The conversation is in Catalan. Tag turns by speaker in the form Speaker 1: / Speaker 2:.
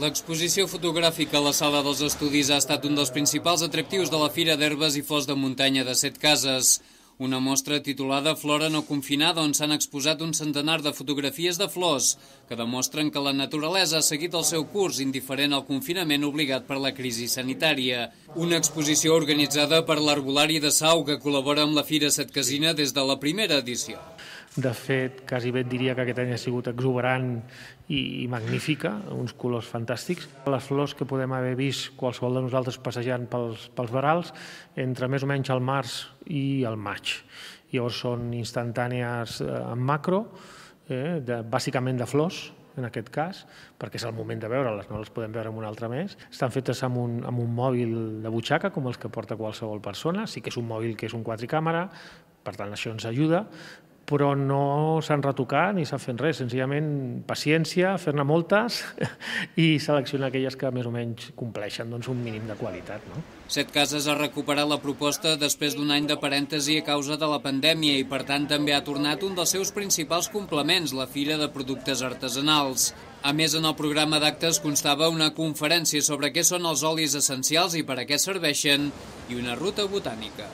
Speaker 1: L'exposició fotogràfica a la Sala dels Estudis ha estat un dels principals atractius de la Fira d'Herbes i Flors de Muntanya de Setcases. Una mostra titulada Flora no confinada on s'han exposat un centenar de fotografies de flors que demostren que la naturalesa ha seguit el seu curs indiferent al confinament obligat per la crisi sanitària. Una exposició organitzada per l'Arbolari de Sau que col·labora amb la Fira Setcasina des de la primera edició.
Speaker 2: De fet, quasi bé et diria que aquest any ha sigut exuberant i magnífica, uns colors fantàstics. Les flors que podem haver vist qualsevol de nosaltres passejant pels verals entre més o menys el març i el maig. Llavors són instantànies en macro, bàsicament de flors, en aquest cas, perquè és el moment de veure-les, no les podem veure amb un altre mes. Estan fetes amb un mòbil de butxaca, com els que porta qualsevol persona. Sí que és un mòbil que és un quadricàmera, per tant això ens ajuda, però no s'han retocat ni s'ha fet res, senzillament paciència, fer-ne moltes i seleccionar aquelles que més o menys compleixen un mínim de qualitat.
Speaker 1: Setcases ha recuperat la proposta després d'un any de parèntesi a causa de la pandèmia i per tant també ha tornat un dels seus principals complements, la Fira de Productes Artesanals. A més, en el programa d'actes constava una conferència sobre què són els olis essencials i per a què serveixen i una ruta botànica.